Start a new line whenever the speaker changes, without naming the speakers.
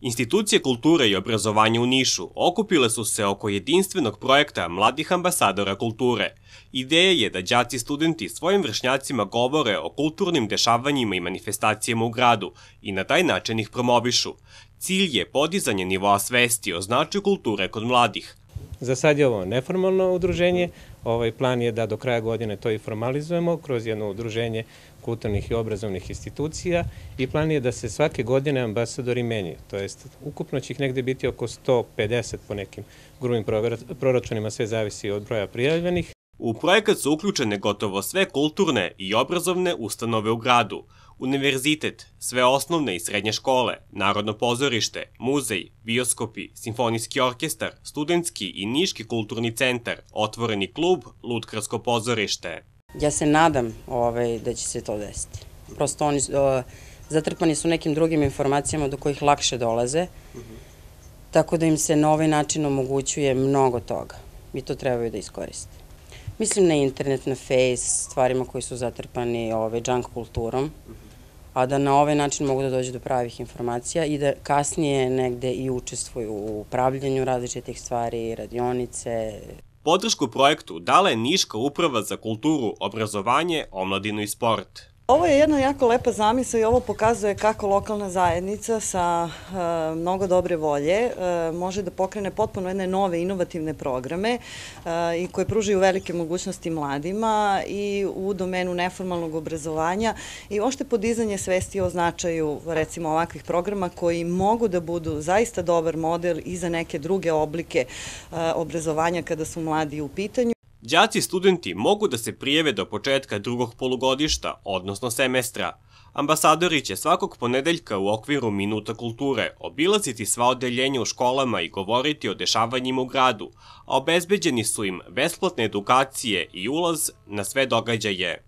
Institucije kulture i obrazovanja u Nišu okupile su se oko jedinstvenog projekta Mladih ambasadora kulture. Ideja je da đaci i studenti svojim vršnjacima govore o kulturnim dešavanjima i manifestacijama u gradu i na taj način ih promovišu. Cilj je podizanje nivoa svesti o značaju kulture kod mladih.
Za sad je ovo neformalno udruženje. Plan je da do kraja godine to i formalizujemo kroz jedno udruženje kulturnih i obrazovnih institucija i plan je da se svake godine ambasadori menjaju. To jest, ukupno će ih negde biti oko 150 po nekim grubim proračunima, sve zavisi od broja prijavljenih.
U projekat su uključene gotovo sve kulturne i obrazovne ustanove u gradu, univerzitet, sve osnovne i srednje škole, Narodno pozorište, muzej, bioskopi, simfonijski orkestar, studentski i niški kulturni centar, otvoreni klub, lutkarsko pozorište.
Ja se nadam da će se to desiti. Prosto oni zatrpani su nekim drugim informacijama do kojih lakše dolaze, tako da im se na ovaj način omogućuje mnogo toga i to trebaju da iskoriste. Mislim na internet, na Face, stvarima koji su zatrpani junk kulturom, a da na ovaj način mogu da dođu do pravih informacija i da kasnije negde i učestvuju u upravljanju različitih stvari, radionice.
Podršku projektu dala je Niška uprava za kulturu, obrazovanje, omladinu i sport.
Ovo je jedna jako lepa zamisao i ovo pokazuje kako lokalna zajednica sa mnogo dobre volje može da pokrene potpuno jedne nove inovativne programe i koje pružaju velike mogućnosti mladima i u domenu neformalnog obrazovanja i uopšte podizanje svesti o značaju recimo ovakvih programa koji mogu da budu zaista dobar model i za neke druge oblike obrazovanja kada su mladi u pitanju.
Đaci i studenti mogu da se prijave do početka drugog polugodišta, odnosno semestra. Ambasadori će svakog ponedeljka u okviru Minuta kulture obilaziti sva odeljenja u školama i govoriti o dešavanjima u gradu, a obezbeđeni su im besplatne edukacije i ulaz na sve događaje.